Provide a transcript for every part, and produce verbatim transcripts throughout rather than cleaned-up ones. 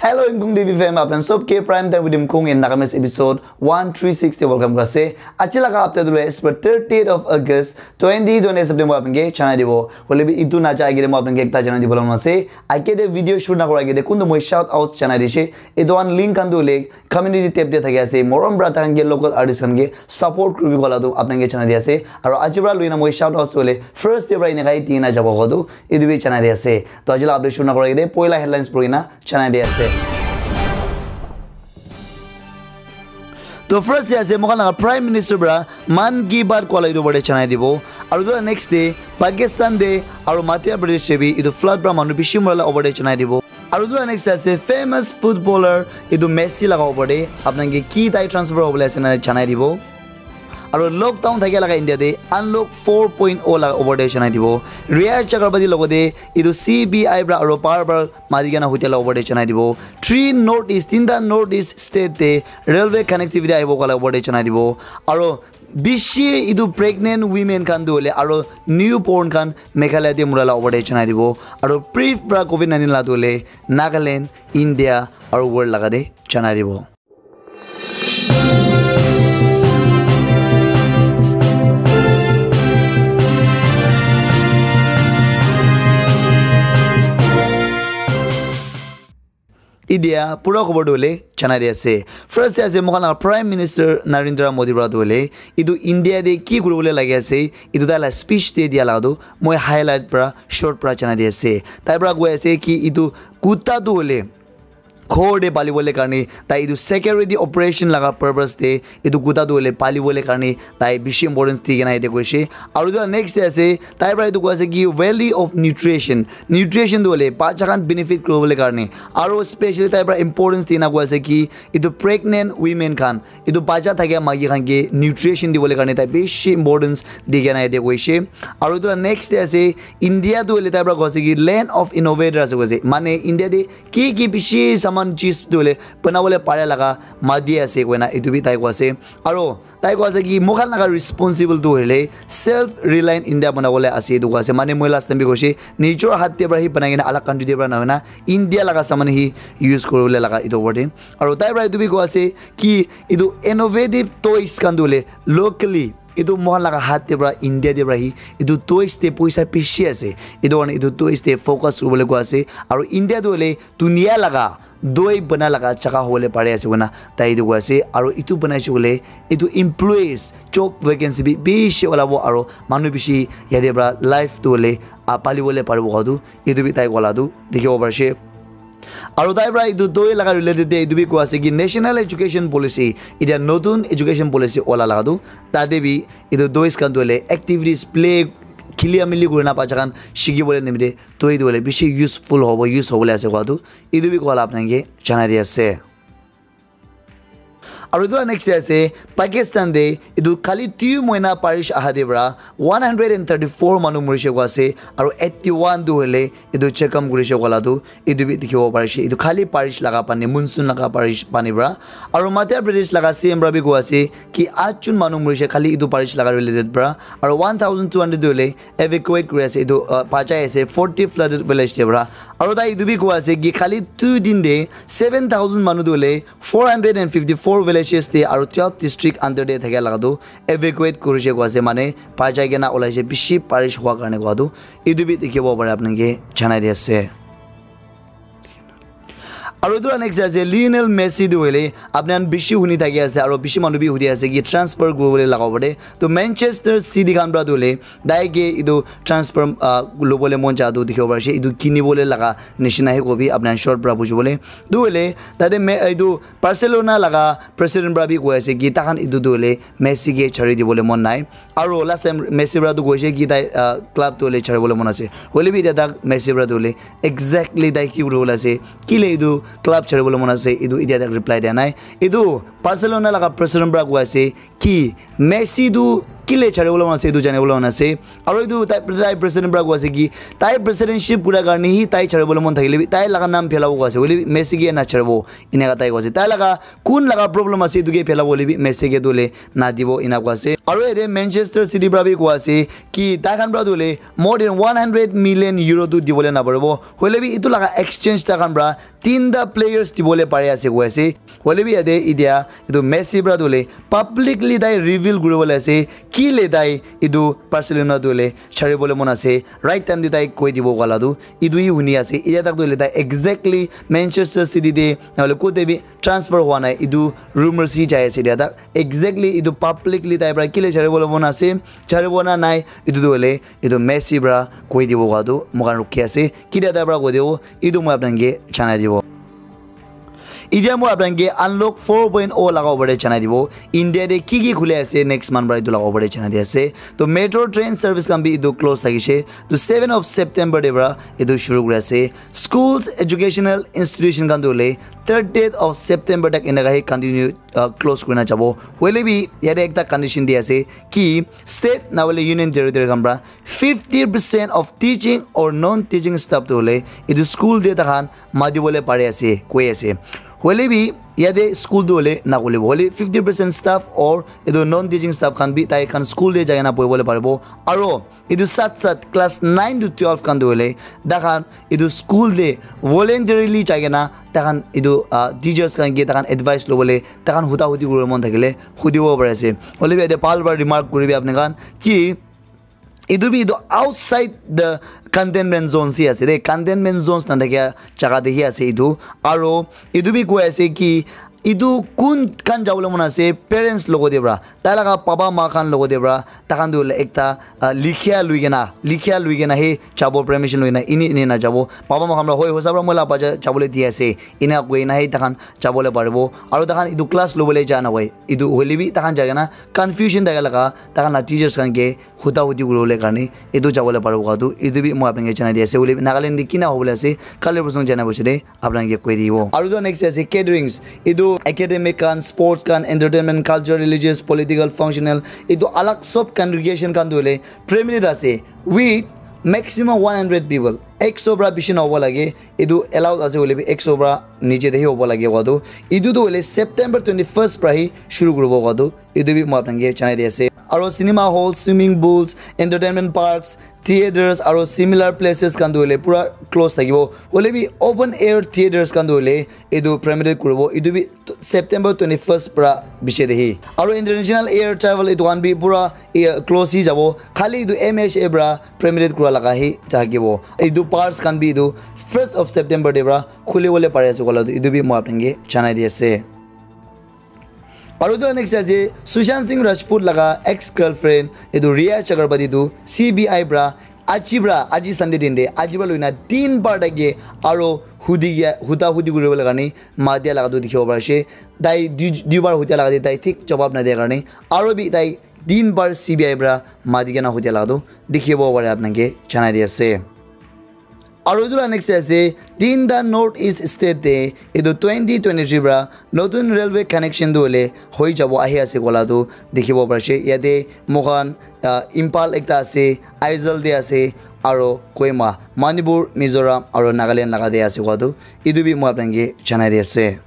Hello, Imkung T V fam, apnan sob ke Prime Time with Imkung in Nagamese episode one three six te welcome kura ase. Aji laga update tu le as per thirtieth of August twenty twenty-six te moi apnan ke janai dibo. Hoile bi itu na jai ke moi apnan ke ekta janai dibo la ase. Age te video shoot na kura age te kuntu moi shout out janai dise. Itu an link khan tu le community tab te thaki ase. Morom pra takhan ke local artist khan ke support kuribi kola tu apnan ke janai di ase. Aru aji pra lui na moi shout out tu le first day pra ina kai tina jabo ko tu itu bi janai di ase. To aji la update shoot na kura age te poila headlines puri na janai di ase. To first day ase moikhan laga Prime Minister pra Mann Ki Baat kola itu opor te janai dibo. Aru tu next day Pakistan te aru Madhya Pradesh te bi itu flood pra manu bishi mura la opor te janai dibo. Aru tu next ase famous footballer itu Messi laga opor te apnan ke ki tai transfer hobole ase na janai dibo. Aru lockdown thakia laga India te unlock four point oh laga opor te janai dibo. Riyaz Chakraborty logote itu C B I pra aru power pra mari kena hotel opor te janai dibo. Three North East, tinta North East state te railway connectivity ahibo kola opor te janai dibo. Aru bishi itu pregnant women khan tu hoile aru newborn khan Meghalaya te mura la opor te janai dibo. Aru brief pra covid nineteen la tu hoile Nagaland, India aru world laga te janai dibo. Idia pura khobor tu hoile janai di ase. First te ase moikhan laga Prime Minister Narendra Modi pra tu hoile itu India te ki kuribole lagi ase itu tai la speech te dia laga tu moi highlight pra short pra janai di ase. Tai pra koi ase ki itu kuta tu hoile ghor te palibole karne tai itu security operation laga purpose te itu kuta tu hoile palibole karne tai bishi importance di kena yate koise. Aru itu next te ase tai pra itu koi ase ki value of nutrition, nutrition tu hoile bacha khan benefit kuribole karne aru specially tai pra importance di na koi ase ki itu pregnant women khan itu bacha thakia maiki khan ke nutrition dibole karne tai bishi importance di kena yate koise. Aru itu next te ase India tu hoile tai pra koi ase ki land of innovator ase koise, mane India te ki ki bishi saman cheez tu hoile banabole pare laga mati ase koina itu bi tai koi ase. Aru tai koi ase ki moikhan laga responsible tu hoile self reliant India banabole ase itu koi ase, mane moi last time bi koise nijor hat te pra hi banai kena alag country te pra na hoina India laga saman hi use kuribole laga itu opor te. Aru tai pra itu bi koi ase ki itu innovative toys khan tu hoile locally itu moikhan laga hat te pra India te pra hi itu toys te poisa bishi ase. Itu karne itu toys te focus kuribole koi ase. Aru India tu hoile dunia laga doi bana laga jaga hobole pari ase koina tai itu koi ase. Aru itu banai se koile itu employees job vacancy bi bishi olabo aru manu bishi yate pra life tu hoile ah, palibole paribo koa tu itu bi tai kola tu dikhibo parise. Aru tai pra itu doi laga related te itu bi koi ase ki National Education Policy, itya notun education policy ola laga tu tate bi itu toys khan tu hoile activities play khilia mili kurina bacha khan shikibole nimite toi tu hoile bishi useful hobo, use hobole ase koa tu itu bi koa la apnai ke janai di ase. Aru etu la next te ase Pakistan te etu khali two moina barish aha te para one hundred and thirty four manu morise koa ase aru eighty one tu hoile etu check up kurise koa la tu etu bi dikhibo parise. Etu khali barish laga pani, monsoon laga barish pani para. Aru Madhya Pradesh laga C M para bi koi ase ki aat jon manu morise khali etu barish laga related para aru one thousand two hundred tu hoile evacuate kuri ase, etu, uh, bachai ase forty flooded village te para. Aru tai etu bi koi ase ki khali two din te seven thousand manu tu hoile four hundred and fifty four villages te aru twelve district under te thakia laga tu evacuate kurise koi ase, mane bachai kena olaise bishi barish hua karne koi tu etu bi dikhibo pare apni ke janai di ase. Aru etu la next ase Lionel Messi tu hoile apni khan bishi huni thaki ase aru bishi manu bi hudi ase ki transfer kuribole laga opor te. To Manchester City khan para tu hoile tai ke etu transfer, ah, lobole mon ja tu dikhibo parise. Etu kinibole laga nishina he kobi apni khan short para bujibole. Tu hoile tate me-, etu Barcelona laga president para bi koi ase ki taikhan etu tu hoile Messi ke chari dibole mon nai. Aru last time Messi para tu koise ki tai, ah, club tu hoile chari bole mon ase. Hoile bi etia tak Messi para tu hoile exactly tai ki kuribole ase, kile etu club chari bole mon ase, etu etia tak reply dia nai. Etu Barcelona laga president para koi ase ki Messi tu kile chari bole mon ase etu jani bole mon ase. Aru etu tai, tai president para koi ase ki tai presidentship kura karne hi tai chari bole mon thakile bi tai laga naam phelabo koi ase, hoile bi Messi ke na charibo, eneka tai koi ase. Tai laga kun laga problem ase etu ke phelabo, hoile bi Messi ke tu hoile na dibo, ena koi ase. Aru yate Manchester City para bi koi ase ki tai khan para tu hoile more than one hundred million euro tu dibole na paribo, hoile bi etu laga exchange tai khan para tinta players dibole pari ase koi ase. Hoile bi yate etia etu Messi para tu hoile publicly tai reveal kuribole ase kile tai etu Barcelona tu hoile chari bole mon ase, right time te tai koi dibo koi la tu etu hi huni ase. Etia tak tu hoile tai exactly Manchester City te na hoile kote bi transfer hua nai, etu rumors hi jai ase etia tak. Exactly etu publicly tai para kile chari bole mon ase, chari bo na nai, etu tu hoile etu Messi para koi dibo koi tu moi khan rukhi ase. Ketia tai para koi dibo, etu moi apni khan ke janai dibo. Etia moi apni khan ke Unlock four point oh laga opor te janai dibo. India te ki ki khule ase next month para etu laga opor te janai di ase. To metro train service khan bi etu close thakishe. To seven of September te para etu shuru kuri ase. Schools, educational institution khan tu hoile thirtieth of September tak eneka hi continue, uh, close kurina jabo. Hoile bi yate ekta condition di ase ki state na hoile union territory khan para fifty percent of teaching or non-teaching staff tu hoile etu school te takhan mati bole pari ase, koi ase. Hoile bi yate school tu hoile na kolibo. Hoile fifty percent staff or etu non-teaching staff khan bi tai khan school te jai kena bohi bole paribo. Aro etu sat sat class nine to twelve khan tu hoile takhan etu school te voluntarily jai kena takhan etu, ah, teachers khan ke takhan advice lobole, takhan huda hudi kuribo mon thakile hudibo pari ase. Hoile bi yate bhal para remark kuribi apni khan ki etu bi etu outside the containment zones hi ase de, containment zones na thakia jaga te hi ase etu. Aro etu bi koi ase ki etu kun khan jabole mon ase, parents logote para, tai laga papa ma khan logote para, takhan tu hoile ekta, ah, likhia lui kena, likhia lui kena hi jabo, permission lui kena, ini ini na jabo. Papa ma khan para hoi hosa para moi la bacha jabole di ase, ena koi na hi takhan jabole paribo. Aro takhan etu class lobole ja na hoi, etu hoile bi takhan jai kena confusion thaka laga, takhan la teachers khan ke huda hudi kuribole karne etu jabole paribo koi tu, etu bi moi apni khan ke janai di ase. Hoile bi Nagaland te kina hobole ase, kali bosong janai boise de apni khan ke koi dibo. Aru tu next ase gatherings. Etu academic khan, sports khan, entertainment, culture, religious, political, functional, etu alag sob congregation khan tu hoile permitted ase with maximum one hundred people. Ekso para bishi na hobo lage. Etu allowed ase hoile bi ekso para niche te hi hobo lage koi tu. Etu tu hoile September twenty first para hi shuru kuribo koi tu. Etu bi moi apni khan ke janai di ase. Aro cinema halls, swimming pools, entertainment parks, theatres aro similar places khan tu hoile pura close thakibo. Hoile bi open air theatres khan tu hoile etu permitted kuribo. Etu bi September twenty first para biche de hi. Aro international air travel etu khan bi pura, eh, close hi jabo. Khali etu M H A para permitted kura laga hi thakibo. Etu parks khan bi etu first of September de para khuli bole pari ase kola tu etu bi moi apni khan ke janai di ase. Aru tu next ase Sushant Singh Rajput laga ex girlfriend etu Rhea Chakraborty tu C B I para aji para, aji Sunday din de, aji para loina din bar take aro hudi ya, huda hudi kuri bole karne ma dia laga tu dikhibo pari ase. Tai dui, dui bar hudia laga de tai thik jawab na dia karne aro bi tai din bar C B I para ma di kena hudia laga tu dikhibo pare apni khan ke janai di ase. Aru etu la next ase tinta North East state te etu twenty twenty three para notun railway connection tu hoile hoi jabo ahi ase kola tu dikhibo pari ase. Yate moi khan, ah, Imphal ekta ase, Aizawl te ase, aro Kohima, Manipur, Mizoram aro Nagaland laga te ase koa tu etu bi moi apni khan ke janai di ase.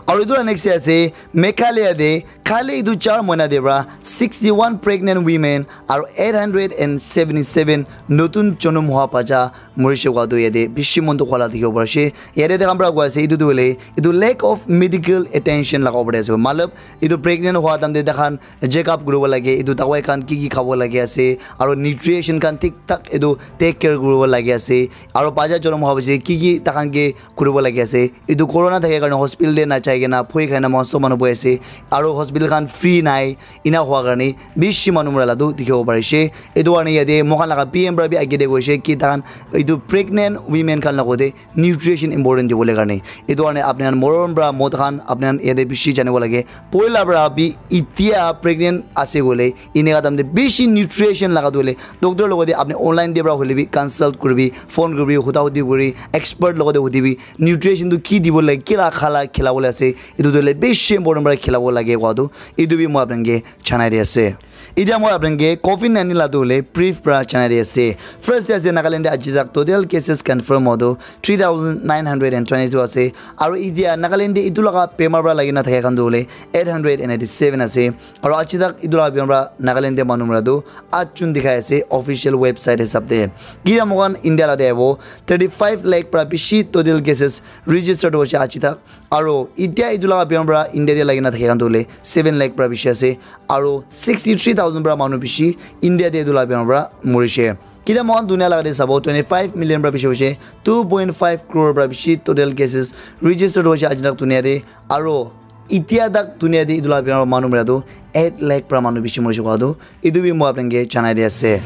Aru etu la next te ase Meghalaya te khali etu char moina te para sixty one pregnant women aru eight hundred and seventy seven notun jonom hua bacha morise koa tu yate bishi mon dukh wala dikhibo pari ase. Yate tai khan para koi ase etu tu hoile etu lack of medical attention laga opor te ase. Matlab etu pregnant hua time te tai khan check up kuribo lage, etu dawai khan ki ki khabo lage ase, aru nutrition khan thik thak etu take care kuribo lage ase, aru bacha jonom hua piche ki ki tai khan ke kuribo lage ase. Etu corona thake karne hospital te na jai kena bhoi khai na moikhan sob manu boi ase, aru hospital khan free nai, ena hua karne bishi manu mura la tu dikhibo pari ase. Etu karne yate moikhan laga P M para bi age te koise ki tai khan etu pregnant women khan logote nutrition important dibole karne. Etu karne apni khan morom para moi khan apni khan yate bishi janibo lage. Poila para bi etia pregnant ase koile eneka time te bishi nutrition laga tu hoile doctor logote apni online te para hoile bi consult kuribi, phone kuribi, huda hudi kuri, expert logote hudibi, nutrition tu ki dibo lage, kila khala khilabole ase, etu tu hoile bishi important para khilabo lage koa tu. Etu bi moi apni khan ke janai di ase. Etia moi apni khan ke covid nineteen la tu hoile brief pra janai di ase. First te ase Nagaland te aji tak total cases confirm hotu three thousand nine hundred and twenty-two ase. Aru etia Nagaland te etu laga bemar pra lagi na thaka khan tu hoile eight hundred and eighty-seven ase. Aru aji tak etu laga bemar pra Nagaland te manu mara tu at jun dikhai ase official website hisab te. Etia moi khan India la te ahibo thirty-five lakh pra bishi total cases registered hoise aji tak. Aru etia etu laga bemar pra India te lagi na thaka khan tu hoile seven lakh pra bishi ase. Aru sixty-three thousand pra manu bishi India te etu laga bemar pra morise. Etia moi khan dunia laga te sabo twenty-five million pra bishi hoise, two point five crore pra bishi total cases registered hoise aji tak dunia te. Aru etia tak dunia te etu laga bemar pra manu mara tu eight lakh pra manu bishi morise koa tu etu bi moi apni khan ke janai di ase.